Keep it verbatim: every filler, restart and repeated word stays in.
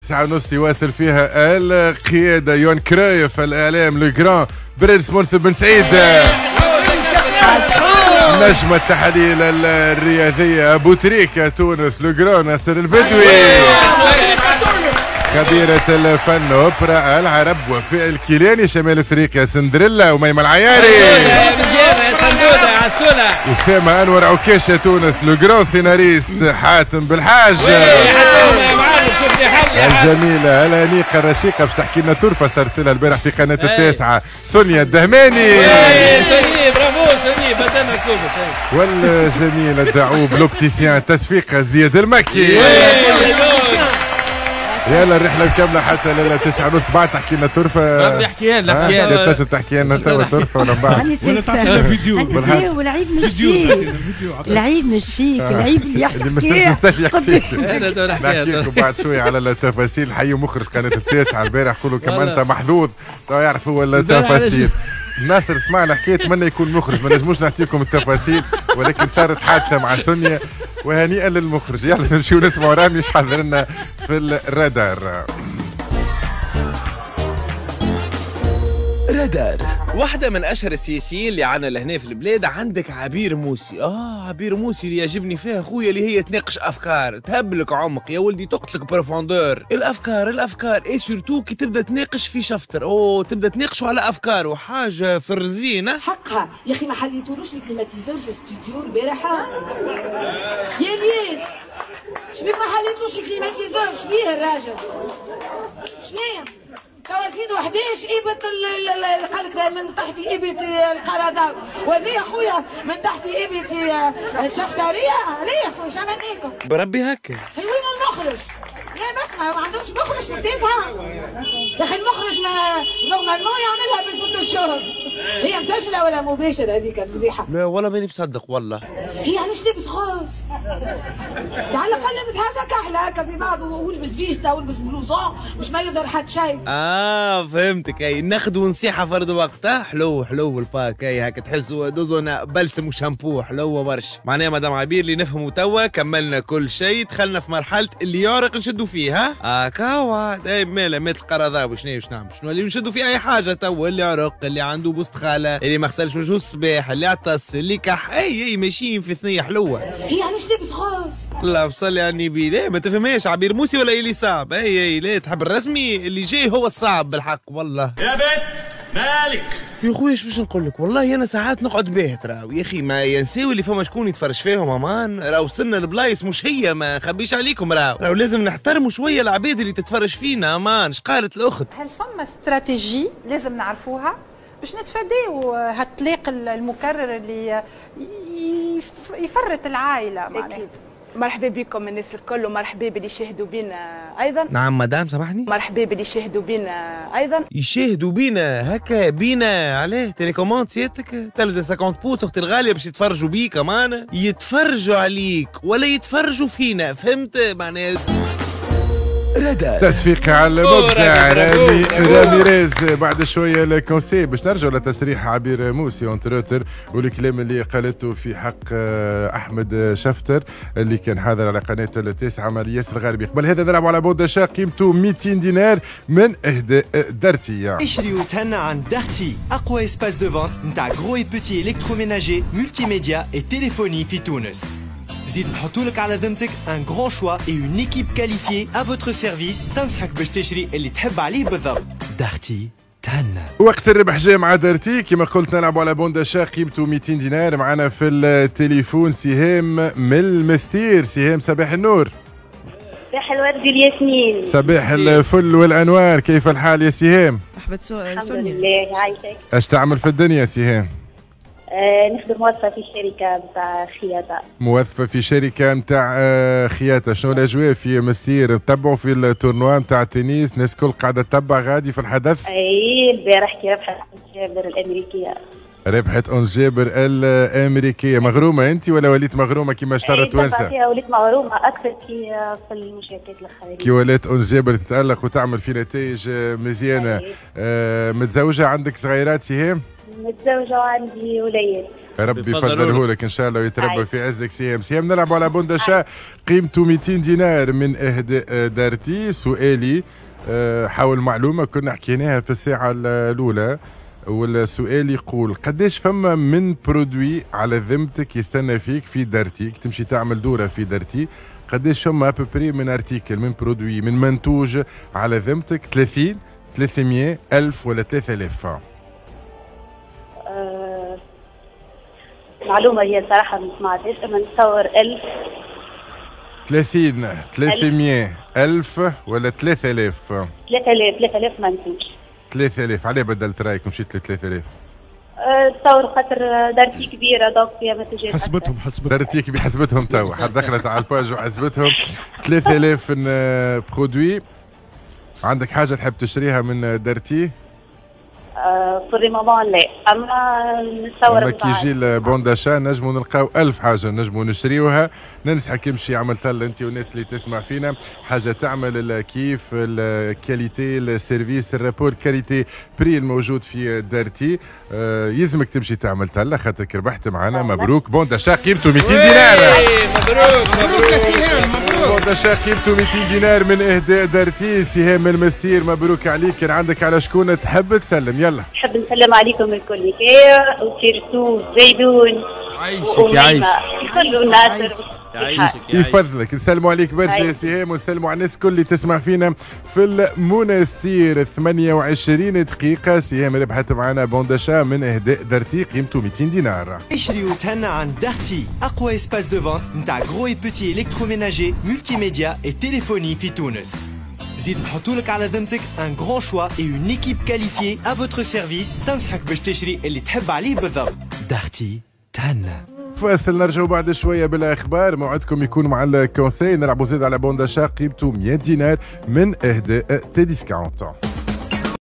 تسعة ونص يواصل فيها القيادة يوان كرايف الإعلام le grand prince منصف بن سعيد، نجم التحاليل الرياضية أبو تريكة تونس le grand ناصر البدوي، خبيرة الفن أوبرا العرب وفاء الكيلاني شمال افريقيا سندريلا وميمة العياري، أسامة أنور عكاشة تونس le grand scénariste حاتم بالحاج، الجميلة الأنيقة الرشيقة باش تحكي لنا ترفة صارت لها البارح في قناة التاسعة سونيا الدهماني، برافو سونيا بدلنا كوبس، والجميل الدعوب l'opticien تسفيق زياد المكي. يلا الرحلة الكاملة حتى ليلة تسعة ونص بعد تحكي لنا ترفة. ربي احكيها لنا احكيها لنا. تنجم تحكي لنا توا ترفة ولا بعد؟ ولا تعطينا فيديو. والعيب مش فيك، العيب مش فيك، العيب اللي يحكي. نحكي لكم بعد شوية على التفاصيل. حيوا مخرج قناة التاسعة البارح قولوا كما أنت محظوظ تو يعرف هو التفاصيل. ناصر سمعنا حكاية اتمنى يكون مخرج، ما نجموش نعطيكم التفاصيل ولكن صارت حادثه مع سونيا وهنيئا للمخرج. يلا نمشيو نسمعوا رامي اش حضر لنا في الرادار. رادار. واحدة من أشهر السياسيين اللي عنا لهنا في البلاد عندك عبير موسي. آه عبير موسي اللي يعجبني فيها خويا اللي هي تناقش أفكار، تهبلك عمق يا ولدي، تقتلك profondeur، الأفكار الأفكار، et surtout كي تبدا تناقش في شفتر، أوه تبدا تناقشوا على أفكار وحاجة في الرزينة. حقها يا أخي ما حليتولوش ال climatiseur في الاستوديو البارحة؟ يا الياس شبيك ما حليتلوش ال climatiseur؟ شبيه الراجل؟ شنيا؟ تو ألفين وحداش إبت قال لك من تحت إبت القرضاوي، وهذه يا خويا من تحت إبت الشفترية. ليه يا خويا شو عملنا لكم؟ بربي هكا. وين المخرج؟ لا بس ما عندهمش مخرج في التاسعة. يا أخي المخرج ما normalement يعملها بالفوتوشوب. هي مسجلة ولا مباشرة هذيك الفضيحة؟ لا والله ماني مصدق والله. هي علاش لابس rose؟ على الأقل لابس حاجة كحلة هكا في بعض، ولبس veste ولبس blouson مش ما يظهر حد شيء. اه فهمتك، اي ناخذ ونصيحة فرد وقت. حلو حلو ال pack، اي هكا تحسوا دوزونا بلسم وشامبو حلوة برشا. معناها مدام عبير اللي نفهموا توا كملنا كل شيء، دخلنا في مرحلة اللي يعرق نشدوا فيه. ها هكا اي مالا مات القرضاوي شنو باش نعمل؟ شنو اللي نشدوا فيه اي حاجة توا، اللي عرق، اللي عنده بوست خالة، اللي ما غسلش وجهه الصباح، اللي عطس، اللي كح، اي اي ماشيين في ثنية حلوة. هي علاش لابس rose؟ لا بصلي على النبي، لا ما تفهمهاش عبير موسي ولا اللي صعب. اي اي لا تحب الرسمي اللي جاي هو الصعب بالحق والله. يا بنت مالك يا خويا اش باش نقول لك، والله انا ساعات نقعد باهت راهو يا اخي، ما ينساو اللي فما شكون يتفرج فيهم امان، راهو وصلنا لبلايص مش هي، ما نخبيش عليكم راهو، راهو لازم نحترموا شوية العباد اللي تتفرج فينا امان. اش قالت الاخت؟ هل فما استراتيجي لازم نعرفوها باش نتفاداو هالطلاق المكرر اللي يفرط العائلة؟ معناها اكيد. مرحبا بكم الناس الكل، ومرحبا باللي يشاهدوا بينا ايضا. نعم مدام سامحني. مرحبا باللي يشاهدوا بينا ايضا. يشاهدوا بينا هكا بينا علاه télécommande سيادتك تلزم خمسين pouces اختي الغالية باش يتفرجوا بيك امانه، يتفرجوا عليك ولا يتفرجوا فينا، فهمت معناها؟ تصفيق على المبدع رامي راميريز. بعد شوية ال conseil باش نرجعوا لتصريح عبير موسي entre autres والكلام اللي قالته في حق احمد شفتر اللي كان حاضر على قناة التاسعة مع الياس الغربي. قبل هذا نلعبوا على bon d'achat قيمته مئتين دينار من اهداء دارتي. اشري وتهنى عن دارتي، اقوى espace de vente نتاع gros et petit électroménager multimédia et téléphonie في تونس. زيد نحطولك على ذمتك un grand choix et une équipe qualifiée à votre service تنصحك باش تشري اللي تحب عليه بالضبط. دارتي تهنى. وقت الربح جاي مع دارتي كما قلت، نلعبوا على bon d'achat قيمته مئتين دينار. معنا في التليفون سهام من المستير. سهام صباح النور. صباح الورد والياسمين. صباح الفل والانوار، كيف الحال يا سهام؟ مرحبا سونيا. الحمد لله عايشك. اش تعمل في الدنيا سهام؟ آه نخدم موظفة في شركة نتاع خياطة. موظفة في شركة نتاع خياطة، شنو الأجواء في مسير؟ تتبعوا في ال tournoi نتاع التنس، الناس الكل قاعدة تتبع غادي في الحدث؟ اي البارح كي ربحت أنس جابر الأمريكية. ربحت أنس جابر الأمريكية، مغرومة أنت ولا وليت مغرومة كيما اشترى التوانسة؟ فيها وليت مغرومة أكثر كي في المشاركات الأخرى. كي ولات أنس جابر تتألق وتعمل في نتائج مزيانة. آه متزوجة، عندك صغيرات سهام؟ متزوجة وعندي وليد. ربي يفضله لك ان شاء الله ويتربى في عزك. سهام، سهام نلعبوا على bon d'achat قيمته مئتين دينار من اهداء دارتي. سؤالي حول معلومة كنا حكيناها في الساعة الاولى، والسؤال يقول قداش فما من produit على ذمتك يستنى فيك في دارتيك، تمشي تعمل دوره في دارتي، قداش فما à peu près من article، من produit، من منتوج على ذمتك؟ ثلاثين، ثلاثمية، ألف ولا ثلاثة آلاف؟ أه معلومة هي صراحة ما سمعتهاش، أما نتصور ألف. ثلاثين، ثلاثمية، ألف ولا ثلاثة آلاف؟ ثلاثة آلاف، ثلاثة آلاف منتوج. ثلاثة آلاف، علاه بدلت رايك ومشيت ل ثلاثة آلاف؟ تصور خاطر دارتي كبيرة donc فيها منتوجات. حسبتهم حسبتهم دارتي كبيرة، حسبتهم توا، حد دخلت على ال page وحسبتهم. ثلاثة آلاف produits. عندك حاجة تحب تشتريها من دارتي؟ pour le moment لا، اما نتصور كي يجي ال bon d'achat نجمو نلقاو ألف حاجة نجمو نشريوها. ننصحك امشي عمل طلة انت والناس اللي تسمع فينا، حاجة تعمل الكيف، ال qualité، ال service، ال rapport qualité prix الموجود في دارتي. آه يلزمك تمشي تعمل طلة خاطرك ربحت معنا. مبروك، bon d'achat قيمته مئتين دينار. مبروك مبروك يا سهام، مبروك. bon d'achat قيمته مئتين دينار من اهداء دارتي. سهام المستير مبروك عليك. كان عندك على شكون تحب تسلم؟ يلا. نحب نسلم عليكم الكل و surtout زيدون. عايشك يعيشك. كل ناصر يعيشك يفضلك. نسلموا عليك برشا يا سهام، ونسلموا على الناس الكل اللي تسمع فينا في المونستير. ثمانية وعشرين دقيقة، سهام ربحت معنا bon d'achat من اهداء دارتي قيمته مئتين دينار. اشري وتهنى عند دارتي، اقوى espace de vente نتاع gros et petit électroménager، multimédia et téléphonie في تونس. زيد نحطولك على ذمتك un grand choix et une équipe qualifiée à votre service تنصحك باش تشري اللي تحب عليه بالضبط. دارتي تهنى. فاصل، نرجعوا بعد شوية بالاخبار. موعدكم يكون مع ال conseil. نلعبوا زيد على bon d'achat قيمته مئة دينار من اهداء Tdiscount.